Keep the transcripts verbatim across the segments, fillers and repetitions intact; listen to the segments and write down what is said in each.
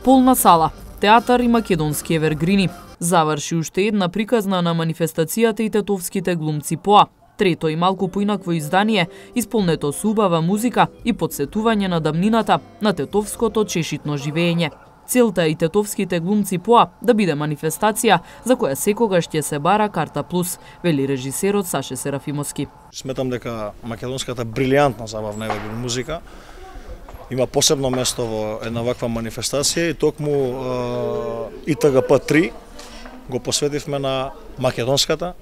Полна сала, театар и македонски евергрини. Заврши уште една приказна на манифестацијата и тетовските глумци Поа. Трето и малку поинакво издание, исполнето со убава музика и подсетување на дамнината на тетовското чешитно живење. Целта е и тетовските глумци Поа да биде манифестација за која секогаш ќе се бара карта плюс, вели режисерот Саше Серафимовски. Сметам дека македонската брилијантна забавна евергрин музика има посебно место во една ваква манифестација и токму И Т Г П три го посветивме на македонската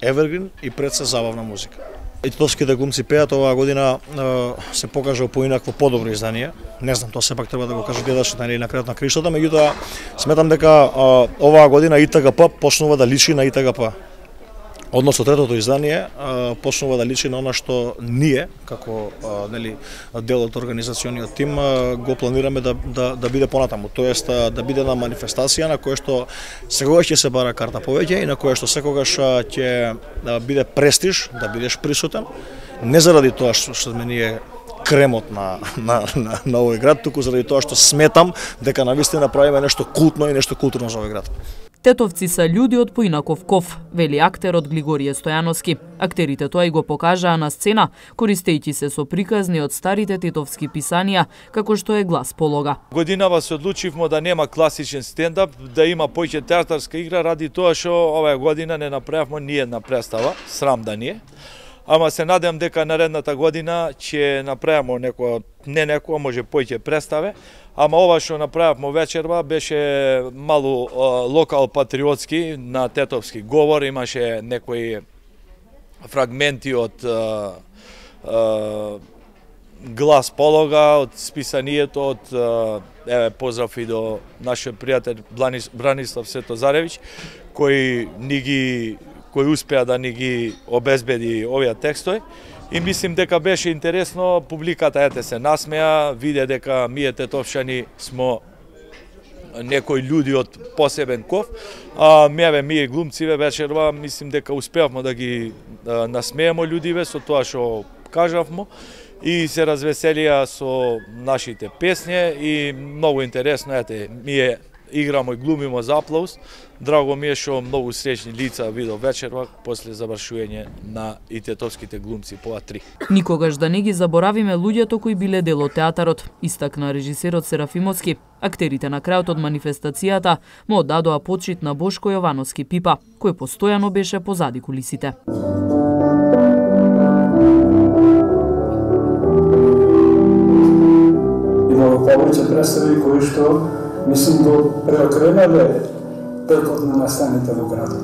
евергрин и пред се забавна музика. И тетовските глумци пеат оваа година се покажа поинакво подобро издание. Не знам, тоа сепак треба да го кажат гледачите или на крајот на криштата, меѓутоа сметам дека оваа година И Т Г П почнува да личи на И Т Г П. Односно третото издание почнува да личи на она што ние како нели дел од организациониот тим го планираме да да да биде понатаму, тоест да биде на манифестација на која што секогаш ќе се бара карта повеќе и на која што секогаш ќе биде престиж да бидеш присутен, не заради тоа што што сме ние кремот на на на, на овој град, туку заради тоа што сметам дека навистина правиме нешто култно и нешто културно за овој град. Тетовци се луѓе од поинаков ков, вели актерот Глигорije Стојановски. Актерите тоа и го покажаа на сцена, користејќи се со приказни од старите тетовски писанија, како што е Глас полога. Годинава се одлучивме да нема класичен стендап, да има поиќе театарска игра, ради тоа што оваа година не направивме ни една представа, срам да ни е. Ама се надевам дека наредната година ќе направиме некоја, не некоја, може поиќе представе. Ама ова што направивме вечерва беше малу локал патриотски на тетовски говор, имаше некои фрагменти од а, а, Глас полога, од списанието, од еве поздрав и до нашиот пријател Бранислав Светозаревиќ, кој ни ги кој успеа да ни ги обезбеди овие текстови. И мислим дека беше интересно, публиката ете се насмеа, виде дека ние тетовшани смо некои луѓе од посебен ков, а меве ние глумциве вечерва мислим дека успеавме да ги да, насмееме луѓиве со тоа што кажавме и се развеселија со нашите песни и многу интересно ете ние играмо и глумимо за аплауз. Драго ми е што многу среќни лица видов вечерва после завршување на и тетовските глумци Поа три. Никогаш да не ги заборавиме луѓето кои биле дел од театарот, истакна режисерот Серафимовски. Актерите на крајот од манифестацијата му оддадоа почит на Бошко Јовановски Пипа, кој постојано беше позади кулисите. Имало повеќе представи кои што мислим го преокренале текот на настаните во градот.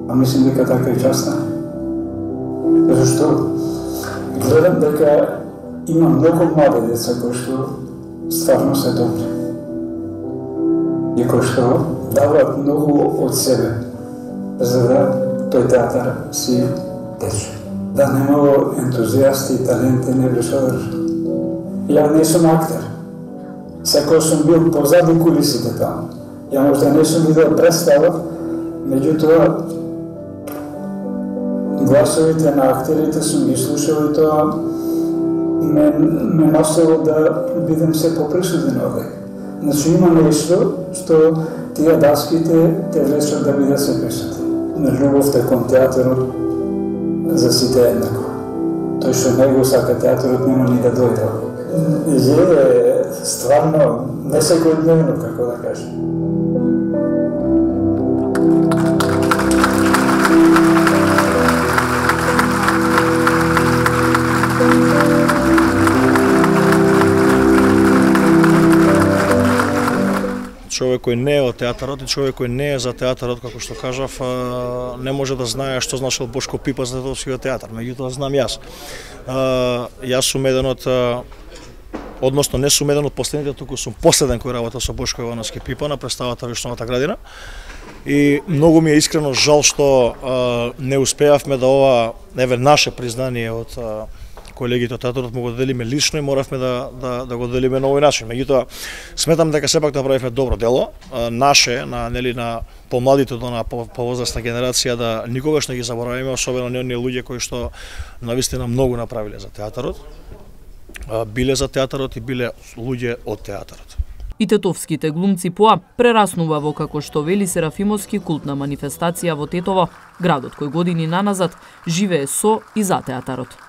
А мислим дека така и часта. Зашто? Гледам дека има многу млади деца кои што стварно се добри. И кои што даваат многу од себе за да тој театар си тече. Да немало ентузијасти и таленти не би што држат. Ја не сум актер. Секој сум бил позади кулисите таму. Ја можда не сум видел представа, меѓутоа гласовите на актерите сум ги слушал и тоа ме, ме насело да бидем се поприсутен овде. Значи има нешто што тие даските те влечат да бидат се присутни. На љубовта кон театарот за сите еднакво. Тој што не го сака театарот нема ни да дојде. Е стварно не секојдневно, како да кажем. Човек кој не е од театарот и човек кој не е за театарот, како што кажав, не може да знае што значил Бошко Пипа за тетовскиот театар. Меѓутоа знам јас. Јас сум еден од, односно не сум еден од последните, туку сум последен кој работел со Бошко Јовановски Пипа на представата Вишновата градина. И многу ми е искрено жал што не успеавме да ова еве наше признание од колегите од театарот му го делиме лично и моравме да, да, да го делиме на овој начин. Меѓутоа, сметам дека сепак да правиме добро дело, наше, на, нели, на помладите до на повозрастна генерација, да никогаш не ги заборавиме, особено не оние луѓе кои што навистина многу направиле за театарот, биле за театарот и биле луѓе од театарот. И тетовските глумци поа прераснува во, како што вели Серафимовски, култна манифестација во Тетово, градот кој години наназад живее со и за театарот.